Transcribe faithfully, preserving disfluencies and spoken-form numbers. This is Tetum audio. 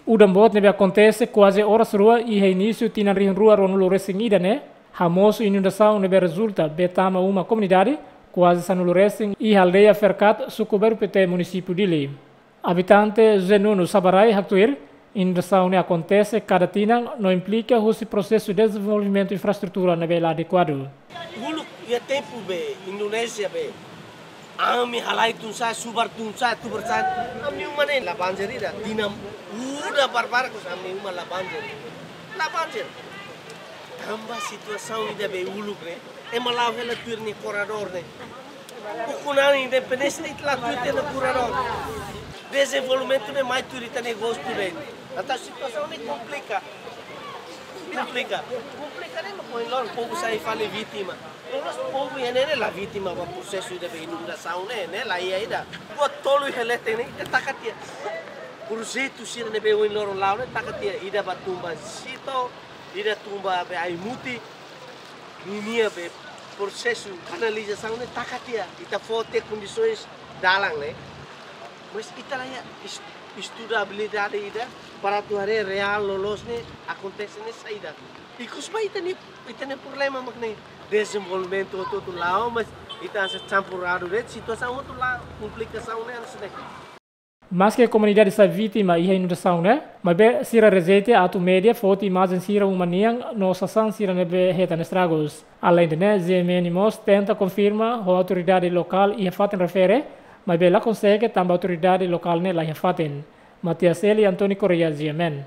Udan boot ne'ebé akontese kuaze oras rua iha inísiu tinan rihun rua ruanulu resin ida ne'e, hamosu inundasaun ne'ebé rezulta bee tama uma komunidade kuaze sanulu resin iha aldeia Ferkat, suku Bairru Pité, munisípiu Dili. Abitante José Nuno Sabarai haktuir, inundasaun ne'e akontese kada tinan no implika husi prosesu dezenvolvimentu infraestrutura ne'ebé la adekuadu. Uluk iha tempu be Indonézia be, ami halai tun sa'e, subar tun sa'e, tubar sa'e. Ami uma ne'e la banjir ida, tinan udan barbarak, ami uma la banjir. La banjir. Tanba situasaun ida be uluk ne'e, ema la'o hela tuir nia koredór ne'e. Ukun-an independénsia ita la tuir ita-nia koredór. Dezenvolvimentu ne'e mai tuir ita-nia gostu de'it. Entaun situasaun ne'e komplika. Komplika. Komplika ne'e mak ohin loron povu sai fali vítima. Mas povu iha ne'e ne'e la vítima ba prosesu ida be inundasaun ne'e, ne'e la iha ida. Buat tolu iha leten ne'e ita taka tiha. Projetu sira ne'ebé ohin loron la'o ne'e taka tiha, ida ba tun ba Sito, ida tun ba be Aimuti, ninia be prosesu kanalizasaun ne'e taka tiha, ita fó tiha kondisoens dalan ne'e. Mas ita la iha es-, estudabilidade ida para atu haree reál loloos ne'e akontese ne'e saida. Ikus ba ita-nia, ita-nia problema mak ne'e. Dezenvolvimentu hotu-hotu la'o, mas ita hanesan campuradu de'it, situasaun hotu la'o, komplikasaun ne'e hanesan ne'e. Maske komunidade sai vítima iha inundasaun ne'e, maibé sira rejeita atu média foti imajen sira uma nian no sasán sira ne'ebé hetan estragus. Aleinde ne'e, G M N mós tenta konfirma ho autoridade lokál iha fatin refere, maibé la konsege tanba autoridade lokál ne'e la iha fatin. Matias Eli, António Correia, G M N.